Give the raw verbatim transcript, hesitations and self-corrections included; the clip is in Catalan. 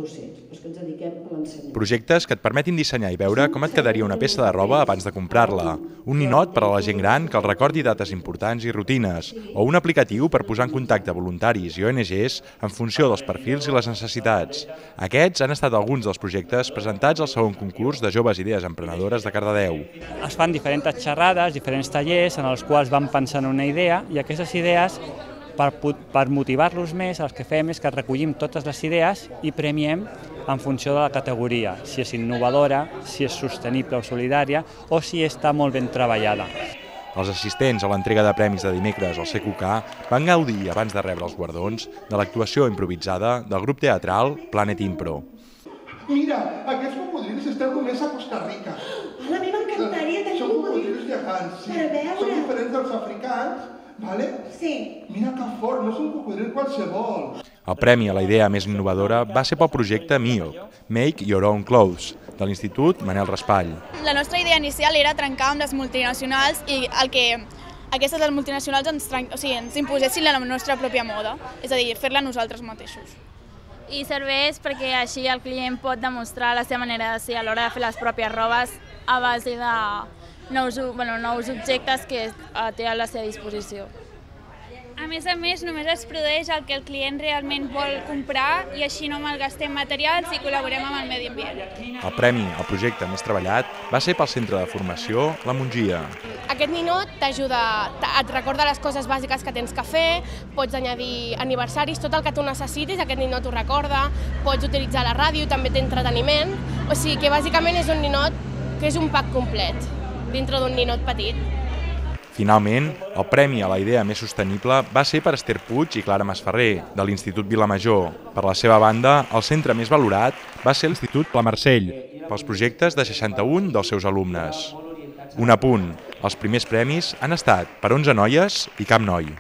docents, els que ens dediquem a l'ensenyament. Projectes que et permetin dissenyar i veure com et quedaria una peça de roba abans de comprar-la, un ninot per a la gent gran que el recordi dates importants i rutines, o un aplicatiu per posar en contacte voluntaris i O N Ges en funció dels perfils i les necessitats. Aquests han estat alguns dels projectes presentats al segon concurs de Joves Idees Emprenedores de Cardedeu. Es fan diferents xerrades, diferents tallers en els quals van pensant una idea i aquestes idees, per, per motivar-los més, el que fem és que recollim totes les idees i premiem en funció de la categoria, si és innovadora, si és sostenible o solidària o si està molt ben treballada. Els assistents a l'entrega de premis de dimecres al C Q K van gaudir, abans de rebre els guardons, de l'actuació improvisada del grup teatral Planet Impro. Mira, aquests cocodrils estan només a Costa Rica. A mi m'encantaria tenir Són cocodrils gegants, sí. Són diferents dels africans, vale? Sí. Mira que fort, no és un cocodril qualsevol. El premi a la idea més innovadora va ser pel projecte M I O C, Make Your Own Clothes, de l'Institut Manel Raspall. La nostra idea inicial era trencar amb les multinacionals i el que aquestes les multinacionals ens, o sigui, ens imposessin la nostra pròpia moda, és a dir, fer-la nosaltres mateixos. I serveix perquè així el client pot demostrar la seva manera de ser a l'hora de fer les pròpies robes a base de nous, bueno, nous objectes que té a la seva disposició. A més a més, només es produeix el que el client realment vol comprar i així no malgastem materials i col·laborem amb el medi ambient. El premi al projecte més treballat va ser pel centre de formació La Mongia. Aquest ninot t'ajuda, et recorda les coses bàsiques que tens que fer, pots añadir aniversaris, tot el que tu necessitis, aquest ninot ho recorda, pots utilitzar la ràdio, també té entreteniment, o sigui que bàsicament és un ninot que és un pack complet, dintre d'un ninot petit. Finalment, el premi a la idea més sostenible va ser per Esther Puig i Clara Masferrer, de l'Institut Vilamajor. Per la seva banda, el centre més valorat va ser l'Institut Pla Marcell, pels projectes de seixanta-un dels seus alumnes. Un apunt, els primers premis han estat per onze noies i cap noi.